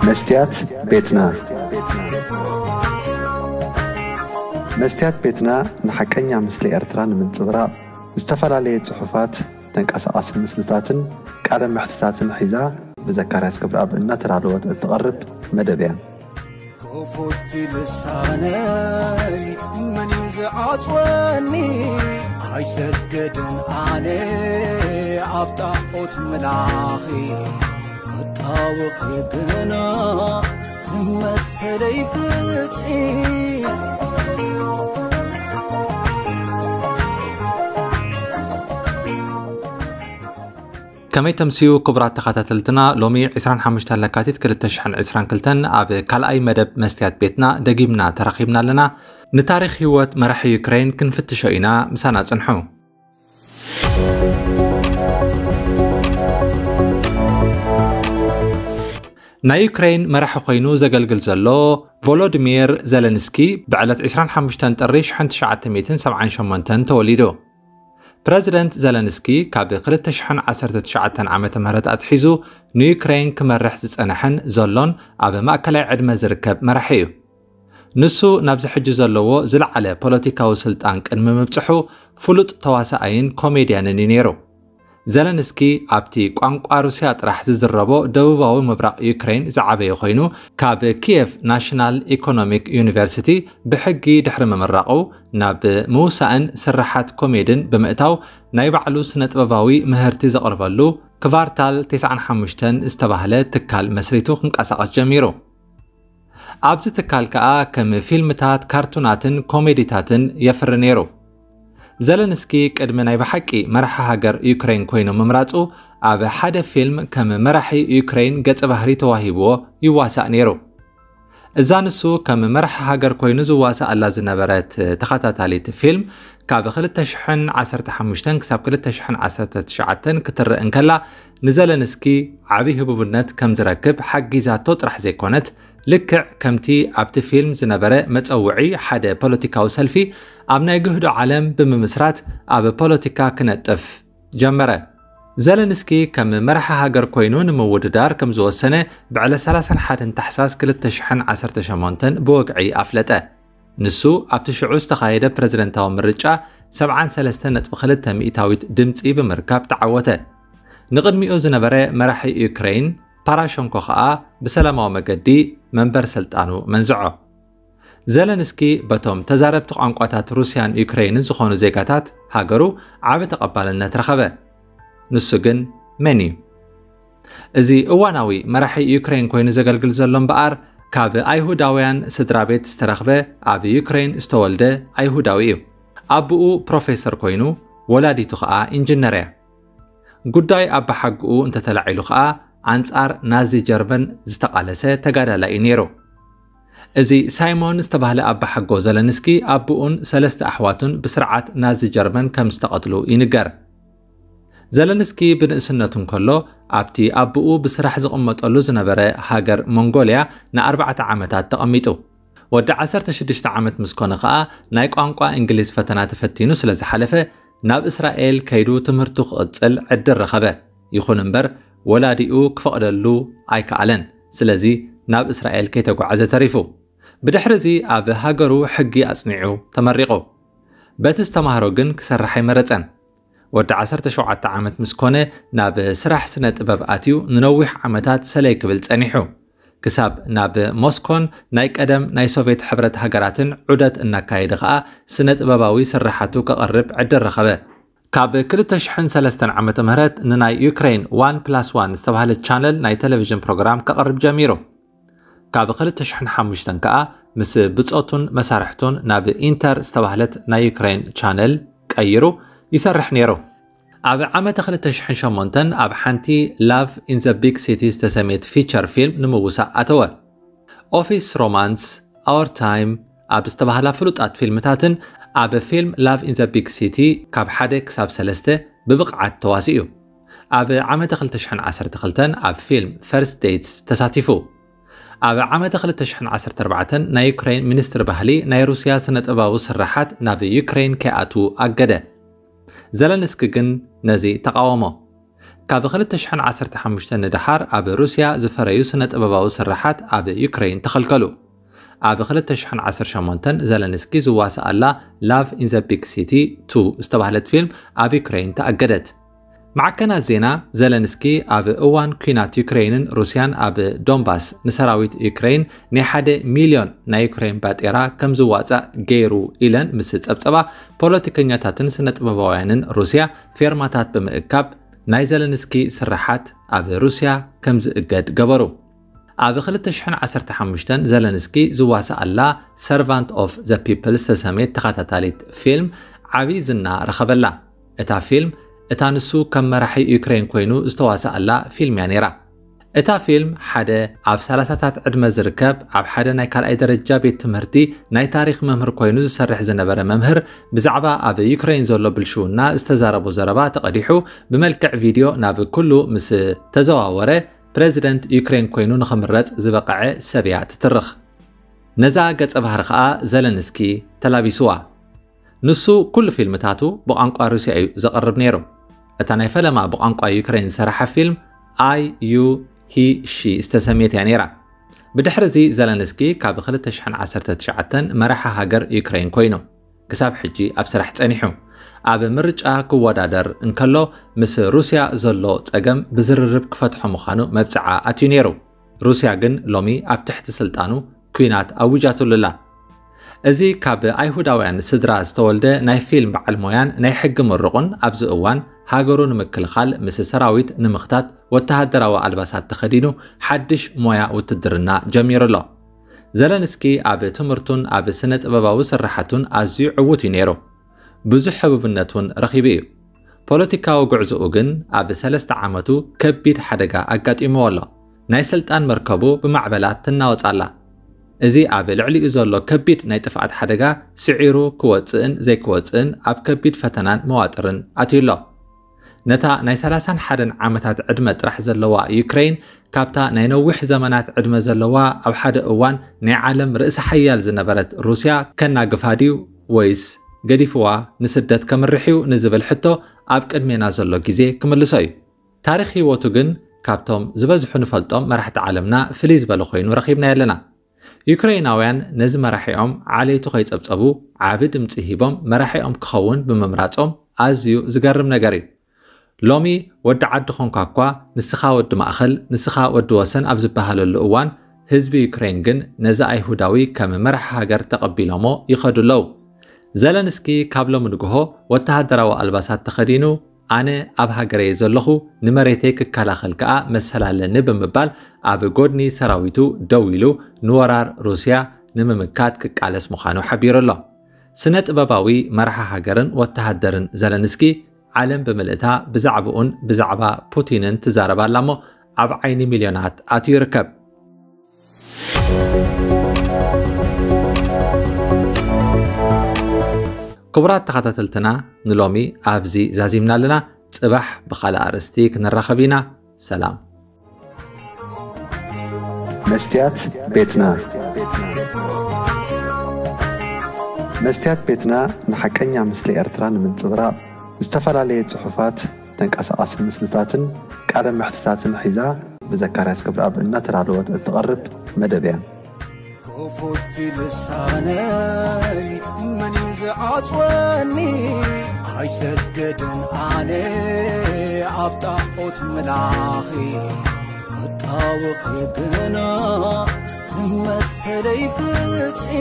መስትያት ቤትና። መስትያት ቤትና ንሓቀኛ ምስሊ ኤርትራ ንምንጽብራቕ ዝተፈላለየ ጽሑፋት፣ ተንቀሳቓሲ ምስልታትን ቃለ መሕትታትን ሒዛ ብዘካርያስ ገብረኣብ እናተዳለወት እትቐርብ መደብ እያ። ክፉት ልሳነይ መን እዩ ዝዓጽወኒ? ኣይሰግድን ኣነ ኣብ ጣዖት ምላኺ፣ ክጣወኺ ግና መሰለይ ፍትሒ። ከመይ ተምስዩ ክቡራት ተኸታተልትና፣ ሎሚ ዕስራን ሓሙሽተን ለካቲት ክልተ ሽሕን ዕስራን ክልተን ኣብ ካልኣይ መደብ መስትያት ቤትና ደጊምና ተራኺብና ኣለና። ንታሪኽ ህይወት መራሒ ዩክሬን ክንፍትሾ ኢና፣ ምሳና ጽንሑ። ናይ ዩክሬን መራሒ ኮይኑ ዘገልግል ዘሎ ቮሎዲሚር ዘለንስኪ ብዕለት ዕስራን ሓሙሽተን ጥሪ ሽሕን ትሽዓተ ሚእትን ሰብዓን ሸሞንተን ተወሊዱ። ፕረዚደንት ዘለንስኪ ካብ ክልተ ሽሕን ዓሰርተ ትሽዓተን ዓመተ ምህረት ኣትሒዙ ንዩክሬን ክመርሕ ዝጸንሐን ዘሎን ኣብ ማእከላይ ዕድመ ዝርከብ መራሒ እዩ። ንሱ ናብዚ ሕጂ ዘለዎ ዝለዓለ ፖለቲካዊ ስልጣን ቅድሚ ምብጽሑ ፍሉጥ ተዋሳኣይን ኮሜድያንን እዩ ነይሩ። ዘለንስኪ ኣብቲ ቋንቋ ሩስያ ጥራሕ ዝዝረቦ ደቡባዊ ምብራቕ ዩክሬን ዝዓበየ ኮይኑ፣ ካብ ኪየቭ ናሽናል ኢኮኖሚክ ዩኒቨርሲቲ ብሕጊ ድሕሪ ምምራቑ ናብ ምውሳእን ስርሓት ኮሜድን ብምእታው ናይ ባዕሉ ስነ-ጥበባዊ ምህርቲ ዘቕርበሉ ክቫርታል ተስዓን ሓሙሽተን ዝተባህለ ትካል መስሪቱ ክንቀሳቐስ ጀሚሩ። ኣብዚ ትካል ከኣ ከም ፊልምታት፣ ካርቱናትን ኮሜዲታትን የፍሪ ነይሩ። ዘለንስኪ ቅድሚ ናይ ብሓቂ መራሒ ሃገር ዩክሬን ኮይኑ ምምራጹ፣ ኣብ ሓደ ፊልም ከም መራሒ ዩክሬን ገጸ ባህሪ ተዋሂብዎ ይዋሳእ ነይሩ። እዛ ንሱ ከም መራሒ ሃገር ኮይኑ ዝዋሳኣላ ዝነበረት ተኸታታሊት ፊልም፣ ካብ ክልተ ሽሕን ዓሰርተ ሓሙሽተን ክሳብ ክልተ ሽሕን ዓሰርተ ትሽዓተን ክትረአ እንከላ፣ ንዘለንስኪ ዓቢ ህቡብነት ከም ዝረክብ ሓጊዛቶ ጥራሕ ዘይኮነት፣ ልክዕ ከምቲ ኣብቲ ፊልም ዝነበረ መጸውዒ ሓደ ፖለቲካዊ ሰልፊ ኣብ ናይ ግህዶ ዓለም ብምምስራት ኣብ ፖለቲካ ክነጥፍ ጀመረ። ዘለንስኪ ከም መራሒ ሃገር ኮይኑ ንምውድዳር ከም ዝወሰነ ብዕለት ሰላሳን ሓደን ታሕሳስ ክልተ ሽሕን ዓሰርተ ሸሞንተን ብወግዒ ኣፍለጠ። ንሱ ኣብቲ ሽዑ ዝተኻየደ ፕረዚደንታዊ ምርጫ ሰብዓን ሰለስተን ነጥቢ ክልተ ሚእታዊት ድምጺ ብምርካብ ተዓወተ። ንቕድሚኡ ዝነበረ መራሒ ዩክሬን ፓራሸንኮ ከኣ ብሰላማዊ መገዲ መንበር ስልጣኑ መንዝዖ። ዘለንስኪ በቶም ተዛረብቲ ቋንቋታት ሩስያን ዩክሬንን ዝኾኑ ዜጋታት ሃገሩ ዓቢ ተቐባልነት ረኸበ። ንሱ ግን መን እዩ? እዚ እዋናዊ መራሒ ዩክሬን ኮይኑ ዘገልግል ዘሎ እምበኣር፣ ካብ ኣይሁዳውያን ስድራ ቤት ዝተረኽበ፣ ኣብ ዩክሬን ዝተወልደ ኣይሁዳዊ እዩ። ኣቦኡ ፕሮፌሰር ኮይኑ፣ ወላዲቱ ኸኣ ኢንጂነር እያ። ጉዳይ ኣባሓጎኡ እንተተላዒሉ ኸኣ፣ ኣንጻር ናዚ ጀርመን ዝተቓለሰ ተጋዳላይ እዩ ነይሩ። እዚ ሳይሞን ዝተባህለ ኣባሓጎ ዘለንስኪ፣ ኣቦኡን ሰለስተ ኣሕዋቱን ብስርዓት ናዚ ጀርመን ከም ዝተቐትሉ ይንገር። ዘለንስኪ ብንእስነቱ እንከሎ፣ ኣብቲ ኣቦኡ ብስራሕ ዝቕመጠሉ ዝነበረ ሃገር ሞንጎልያ ንኣርባዕተ ዓመታት ተቐሚጡ። ወዲ ዓሰርተ ሽዱሽተ ዓመት ምስ ኮነ ኸኣ፣ ናይ ቋንቋ እንግሊዝ ፈተና ተፈቲኑ ስለ ዝሓለፈ፣ ናብ እስራኤል ከይዱ ትምህርቱ ክቕጽል ዕድል ረኸበ። ይኹን እምበር፣ ወላዲኡ ክፈቕደሉ ኣይከኣለን። ስለዚ፣ ናብ እስራኤል ከይተጓዓዘ ተሪፉ። ብድሕሪ እዚ፣ ኣብ ሃገሩ ሕጊ ኣጽኒዑ ተመሪቑ። በቲ ዝተማህሮ ግን ክሰርሕ ኣይመረጸን። ወዲ ዓሰርተ ሸውዓተ ዓመት ምስ ኮነ፣ ናብ ስራሕ ስነ ጥበብ ኣትዩ ንነዊሕ ዓመታት ሰለይ ክብል ጸኒሑ። ክሳብ ናብ ሞስኮን ናይ ቀደም ናይ ሶቭየት ሕብረት ሃገራትን ዑደት እናካየደ ኸኣ ስነ ጥበባዊ ስርሓቱ ከቕርብ ዕድል ረኸበ። ካብ ክልተ ሽሕን ሰለስተን ዓመተ ምህረት ንናይ ዩክሬን ዋን ፕላስ ዋን ዝተባህለት ቻነል ናይ ቴሌቪዥን ፕሮግራም ከቕርብ ጀሚሩ። ካብ ክልተ ሽሕን ሓሙሽተን ከኣ ምስ ብጾቱን መሳርሕቱን ናብ ኢንተር ዝተባህለት ናይ ዩክሬን ቻነል ቀይሩ ይሰርሕ ነይሩ። ኣብ ዓመተ ክልተ ሽሕን ሸሞንተን ኣብ ሓንቲ ላቭ ኢን ዘ ቢግ ሲቲ ዝተሰምየት ፊቸር ፊልም ንምውሳእ ኣተወ። ኦፊስ ሮማንስ፣ ኣወር ታይም ኣብ ዝተባህላ ፍሉጣት ፊልምታትን ኣብ ፊልም ላቭ ኢን ዘ ቢግ ሲቲ ካብ ሓደ ክሳብ ሰለስተ ብብቕዓት ተዋሲኡ። ኣብ ዓመተ ክልተ ሽሕን ዓሰርተ ክልተን ኣብ ፊልም ፈርስት ዴትስ ተሳቲፉ። ኣብ ዓመተ ክልተ ሽሕን ዓሰርተ ኣርባዕተን ናይ ዩክሬን ሚኒስትሪ ባህሊ ናይ ሩስያ ስነ ጥበባዊ ስርሓት ናብ ዩክሬን ከይኣትዉ ኣገደ። ዘለንስኪ ግን ነዚ ተቓወሞ። ካብ ክልተ ሽሕን ዓሰርተ ሓሙሽተን ንደሓር ኣብ ሩስያ ዝፈረዩ ስነ ጥበባዊ ስርሓት ኣብ ዩክሬን ተኸልከሉ። ኣብ ክልተ ሽሕን ዓሰርተ ሸሞንተን ዘለንስኪ ዝዋስኣላ Love in the Big City two ዝተባህለት ፊልም ኣብ ዩክሬን ተኣገደት። ማዕከናት ዜና፣ ዘለንስኪ ኣብ እዋን ኲናት ዩክሬንን ሩስያን ኣብ ዶንባስ ንሰራዊት ዩክሬን ናይ ሓደ ሚልዮን ናይ ዩክሬን ባጤራ ከም ዝዋጻእ ገይሩ ኢለን ምስ ጸብጸባ፣ ፖለቲከኛታትን ስነ ጥበባውያንን ሩስያ ፌርማታት ብምእካብ ናይ ዘለንስኪ ስርሓት ኣብ ሩስያ ከም ዝእገድ ገበሩ። ኣብ ክልተ ሽሕን ዓሰርተ ሓሙሽተን ዘለንስኪ ዝዋስኣላ Servant of the People ዝተሰምየት ተኸታታሊት ፊልም ዓብዪ ዝና ረኸበላ። እታ ፊልም እታ ንሱ ከም መራሒ ዩክሬን ኮይኑ ዝተዋስኣላ ፊልም እያ ነይራ። እታ ፊልም ሓደ ኣብ ሰላሳታት ዕድመ ዝርከብ ኣብ ሓደ ናይ ካልኣይ ደረጃ ቤት ትምህርቲ ናይ ታሪኽ መምህር ኮይኑ ዝሰርሕ ዝነበረ መምህር ብዛዕባ ኣብ ዩክሬን ዘሎ ብልሽውና ዝተዛረቦ ዘረባ ተቐዲሑ ብመልክዕ ቪድዮ ናብ ኩሉ ምስ ተዘዋወረ ፕረዚደንት ዩክሬን ኮይኑ ንኽምረጽ ዝበቕዐ ሰብ እያ ትትርኽ። ነዛ ገጸ ባህሪ ኸኣ ዘለንስኪ ተላቢስዋ። ንሱ ኩሉ ፊልምታቱ ብቋንቋ ሩስያ እዩ ዘቕርብ ነይሩ። እታ ናይ ፈለማ ብቋንቋ ዩክሬን ዝሰረሓ ፊልም ኣይ ዩ ሂ ሺ ዝተሰምየት እያ ነይራ። ብድሕሪ እዚ ዘለንስኪ ካብ ክልተ ሽሕን ዓሰርተ ትሽዓተን መራሒ ሃገር ዩክሬን ኮይኑ ክሳብ ሕጂ ኣብ ስራሕ ጸኒሑ ኣብ ምርጫ ክወዳደር እንከሎ ምስ ሩስያ ዘሎ ጸገም ብዝርርብ ክፈትሖ ምዃኑ መብጽዓ ኣትዩ ነይሩ። ሩስያ ግን ሎሚ ኣብ ትሕቲ ስልጣኑ ኲናት ኣዊጃትሉ ኣላ። እዚ ካብ ኣይሁዳውያን ስድራ ዝተወልደ ናይ ፊልም በዓል ሞያን ናይ ሕጊ ምሩቕን ኣብዚ እዋን ሃገሩ ንምክልኻል ምስ ሰራዊት ንምኽታት ወተሃደራዊ ኣልባሳት ተኸዲኑ ሓድሽ ሞያ ውትድርና ጀሚሩ ኣሎ። ዘለንስኪ ኣብ ትምህርቱን ኣብ ስነ ጥበባዊ ስርሓቱን ኣዝዩ ዕዉት እዩ ነይሩ። ብዙሕ ሕቡብነት እውን ረኺቡ እዩ። ፖለቲካዊ ጉዕዞኡ ግን ኣብ ሰለስተ ዓመቱ ከቢድ ሓደጋ ኣጋጢምዎ ኣሎ። ናይ ስልጣን መርከቡ ብማዕበላት ትናወጽ ኣላ። እዚ ኣብ ልዕሊኡ ዘሎ ከቢድ ናይ ጥፍኣት ሓደጋ ስዒሩ ክወጽእን ዘይክወጽእን ኣብ ከቢድ ፈተናን መዋጥርን ኣትዩ ኣሎ። ነታ ናይ ሰላሳን ሓደን ዓመታት ዕድመ ጥራሕ ዘለዋ ዩክሬን ካብታ ናይ ነዊሕ ዘመናት ዕድመ ዘለዋ ኣብ ሓደ እዋን ናይ ዓለም ርእሰ ሓያል ዝነበረት ሩስያ ከናግፋ ድዩ ወይስ ገዲፍዋ ንስደት ከምርሕ እዩ ንዝብል ሕቶ ኣብ ቅድሜና ዘሎ ግዜ ክምልሶ እዩ። ታሪኽ ህይወቱ ግን ካብቶም ዝበዝሑ ንፈልጦም መራሕቲ ዓለምና ፍልይ ዝበለ ኮይኑ ረኺብናዮ ኣለና። ዩክሬናውያን ነዚ መራሒኦም ዓሌቱ ከይጸብጸቡ ዓቢ ድምጺ ሂቦም መራሒኦም ክኸውን ብምምራጾም ኣዝዩ ዝገርም ነገር እዩ። ሎሚ ወዲ ዓዲ ኾንካ እኳ ንስኻ ወዲ ማእኸል፣ ንስኻ ወዲ ወሰን ኣብ ዝበሃለሉ እዋን ህዝቢ ዩክሬን ግን ነዚ ኣይሁዳዊ ከም መራሒ ሃገር ተቐቢሎሞ ይኸዱ ኣለዉ። ዘለንስኪ ካብ ሎሚ ንግሆ ወተሃደራዊ ኣልባሳት ተኸዲኑ ኣነ ኣብ ሃገረይ ዘለኹ ንመሬተይ ክከላኸል ከኣ መሰል ኣለኒ ብምባል ኣብ ጎድኒ ሰራዊቱ ደው ኢሉ ንወራር ሩስያ ንምምካት ክቃለስ ምዃኑ ሓቢሩ ኣሎ። ስነ ጥበባዊ መራሒ ሃገርን ወተሃደርን ዘለንስኪ ዓለም ብምልእታ ብዛዕባኡን ብዛዕባ ፑቲንን ትዛረብ ኣላ እሞ ኣብ ዓይኒ ሚልዮናት ኣትዩ ይርከብ። ክቡራት ተኸታተልትና ንሎሚ ኣብዚ ዛዚምና ኣለና። ጽባሕ ብኻልእ ኣርእስቲ ክንራኸብ ኢና። ሰላም። መስትያት ቤትና መስትያት ቤትና ንሓቀኛ ምስሊ ኤርትራ ንምንጽብራቕ ዝተፈላለየ ጽሑፋት፣ ተንቀሳቓሲ ምስልታትን ቃለ መሕትታትን ሒዛ ብዘካርያስ ክብረኣብ እናተዳለወት እትቐርብ መደብ እያ። ክፉት ልሳነይ መን እዩ ዝዓጽወኒ? ኣይሰገድን ኣነ ኣብ ጣዖት ምላኺ ክጣወኺ ግና ንመሰለይ ፍትሒ